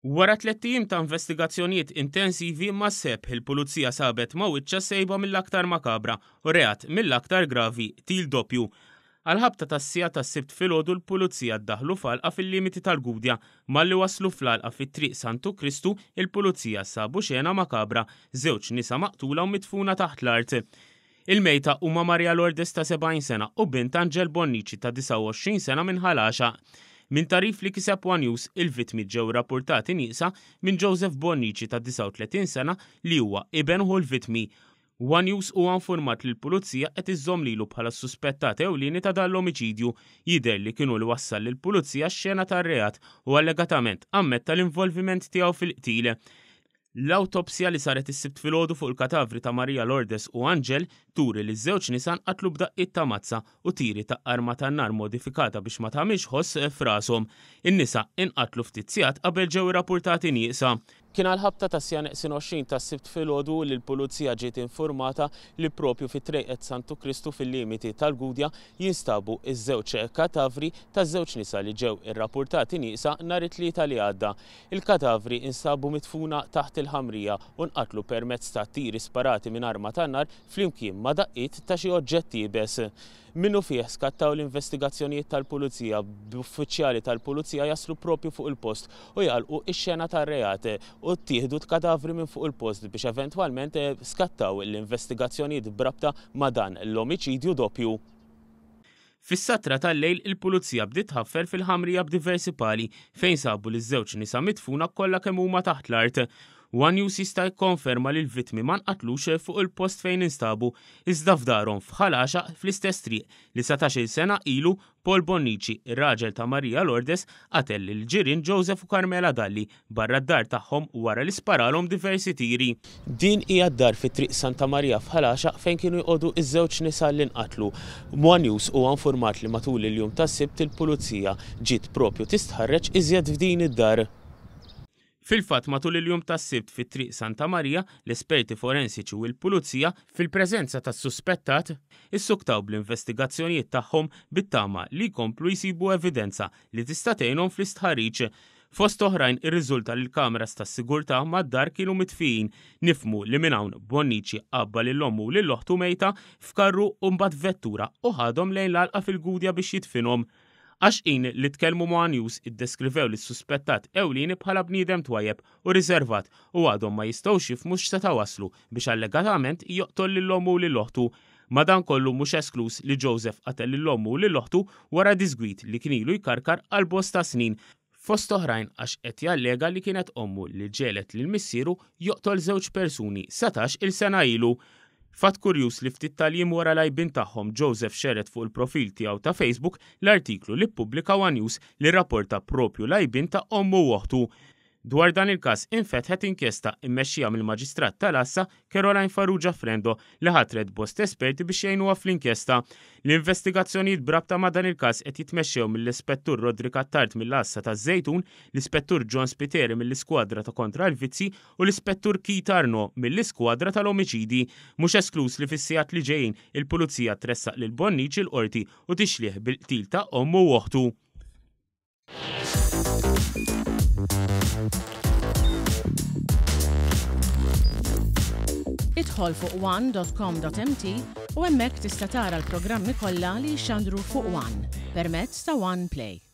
Wara tlett ijiem ta' investigazzjonijiet intensivi mas-sebħ il-Pulizija sabet ma' wiċċha sejba mill-aktar makabra u reat mill-aktar gravi, qtil doppju. Għall-ħabta tas-siegħa tas-Sibt filgħodu l-Pulizija ddaħlu f'għalqa fil-limiti tal-Gudja. Malli waslu fl-għalqa fi Triq Santu Kristu, il-Pulizija sabu xena makabra, żewġ nisa maqtula u midfuna taħt l-art. Il-mejta huma Maria Lourdes ta' 70 sena u bint Angel Bonnici ta' 29 sena minn Ħal Għaxaq. Minn tagħrif li kiseb one News, il-vittmi ġew irrappurtati nieqsa minn Joseph Bonnici ta' 39 sena li huwa iben ħu l-vittmi. One News huwa infurmat li l-Pulizija qed iżżomm lilu bħala s-suspettat ewlieni ta' dan l-omiċidju. Jidher li kien hu li wassal lill-Pulizija x-xena tar-reat u allegatament ammetta l-involviment tiegħu fil-qtil. L-awtopsja li saret is-Sibt filgħodu fuq il-katavri ta' Maria Lourdes u Angel turi li ż-żewġ nisa nqatlu b'daqqiet ta' mazza u tiri ta' arma tan-nar modifikata biex ma tagħmilx ħoss f'rashom. In-nisa inqatlu ftit sigħat qabel ġew irrappurtati nieqsa. Kien għall-ħabta tas-siegħa neqsin 20 tas-Sibt filgħodu li l-Pulizija ġiet infurmata li propju fi Trejqet Santu Kristu fil-limiti tal-Gudja jinstabu ż-żewġ katavri taż-żewġ nisa li ġew irrappurtati nieqsa nhar it-Tlieta li għadda. Il-katavri instabu midfuna taħt il-ħamrija u nqatlu permezz ta' tiri sparati minn arma tan-nar flimkien ma' daqqiet ta' xi oġġett iebes. Minnufih skattaw l-investigazzjonijiet tal-Pulizija b'uffiċjali tal-Pulizija jaslu proprju fuq il-post u jagħlqu x-xena tar-reat u ttieħdu t-katavri minn fuq il-post biex eventwalment skattaw l-investigazzjonijiet b'rabta ma' dan l-omiċidju doppju. Fis-satra tal-lejl il-Pulizija bdiet tħaffer fil-ħamrija b'diversi pali fejn sabu liż-żewġ nisa midfuna kollha kemm huma taħt l-art. One News jista' jikkonferma li l-vittmi ma nqatlux fuq il-post fejn instabu, iżda f'darhom f'Ħal Għaxaq fl-istess triq li satax-il sena ilu Paul Bonnici, ir-raġel ta' Maria Lourdes, qatel lill-ġirien Joseph u Carmela Dalli barra d-dar tagħhom wara li sparalhom diversi tiri. Din hija d-dar fi Triq Santa Marija f'Ħal Għaxaq fejn kienu jqogħdu ż-żewġ nisa li nqatlu. One News huwa infurmat li matul il-jum tas-Sibt il-Pulizija ġiet propju tistħarreġ iżjed f'din id-dar. Fil-fatt matul il-jum tas-Sibt fi Triq Santa Marija, l-esperti forensiċi u l-Pulizija, fil-preżenza tas-suspettat, issuktaw bl-investigazzjonijiet tagħhom bit-tama li jkomplu jsibu evidenza li tista' tgħinhom fl-istħarriġ. Fost oħrajn irriżulta li l-kameras tas-sigurtà mad-dar kienu mitfijin. Nifhmu li minn hawn Bonnici għabba lil ommu u lil oħtu mejta f'karru u mbagħad f'vettura u ħadhom lejn l-għalqa fil-Gudja biex jidfinhom. Għaxqin li tkellmu ma' one News iddeskrivew lis-suspettat ewlieni bħala bniedem twajjeb u riservat u għadhom ma jistgħux jifhmu x'seta' wasslu biex allegatament joqtol lil ommu u lil oħtu. Madankollu mhux eskluż li Joseph qatel lil ommu u lil oħtu wara diżgwid li kien ilu jkarkar għal bosta snin, fost oħrajn għax qed jallega li kienet ommu li ġegħlet lil missieru joqtol żewġ persuni satax-il sena ilu. Fatt kurjuż li ftit tal-jiem wara l-għajbien tagħhom Joseph xerred fuq il-profil tiegħu ta' Facebook l-artiklu li ppubblika one News li rrapporta proprju l-għajbien ta' ommu u oħtu. Dwar dan il-każ infetħet inkjesta mmexxija mill-Maġistrat tal-Għassa Caroline Farrugia Frendo li ħatret bosta esperti biex jgħinuha fl-inkjesta. L-investigazzjonijiet b'rabta ma' dan il-każ qed jitmexxew mill-Ispettur Roderick Attard mill-Għassa taż-Żejtun, l-Ispettur John Spiteri mill-Iskwadra ta' Kontra l-Vizzji u l-Ispettur Keith Arnaud mill-Iskwadra tal-Omiċidji. Mhux eskluż li fis-sigħat li ġejjin il-Pulizija tressaq lil Bonnici l-Qorti u tixlih bil-qtil ta' ommu u oħtu. Idħol fuq one.com.mt u hemmhekk tista' tara l-programmi kollha li jixxandru fuq One permezz ta' One Play.